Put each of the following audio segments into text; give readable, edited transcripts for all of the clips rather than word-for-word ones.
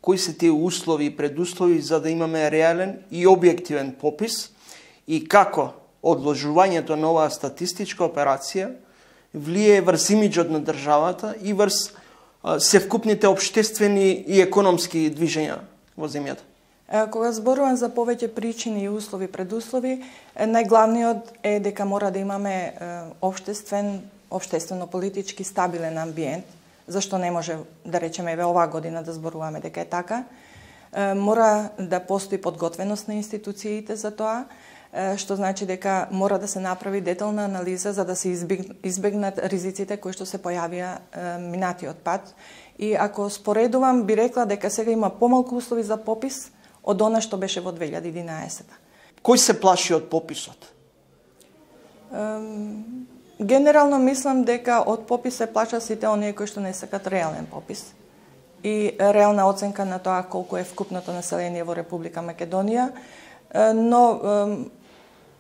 кои се тие услови и предуслови за да имаме реален и објективен попис и како одложувањето на оваа статистичка операција влие врз имиджот на државата и врз севкупните општествени и економски движења во земјата. Кога зборувам за повеќе причини и услови, предуслови, најглавниот е дека мора да имаме општествено-политички стабилен амбиент, зашто не може да речеме оваа година да зборуваме дека е така. Мора да постои подготвеност на институциите за тоа, што значи дека мора да се направи детална анализа за да се избегнат ризиците кои што се појавија минатиот пат. И ако споредувам, би рекла дека сега има помалку услови за попис од она што беше во 2011. Кој се плаши од пописот? Генерално мислам дека од попис се плашат сите оние кои што не сакат реален попис и реална оценка на тоа колку е вкупното население во Република Македонија, но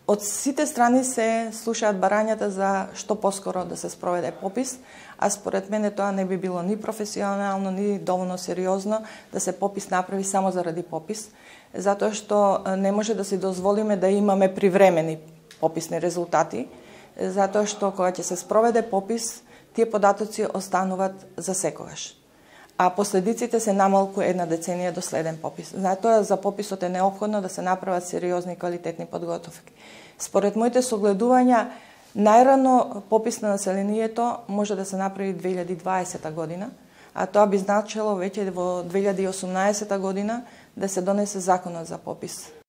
од сите страни се слушаат барањата за што поскоро да се спроведе попис, а според мене тоа не би било ни професионално, ни доволно сериозно да се попис направи само заради попис, затоа што не може да си дозволиме да имаме привремени пописни резултати, затоа што кога ќе се спроведе попис, тие податоци остануваат за секогаш. А последиците се намалку една деценија до следен попис. Затоа за пописот е неопходно да се направат сериозни и квалитетни подготовки. Според моите согледувања, најрано попис на населението може да се направи 2020 година, а тоа би значило веќе во 2018 година да се донесе законот за попис.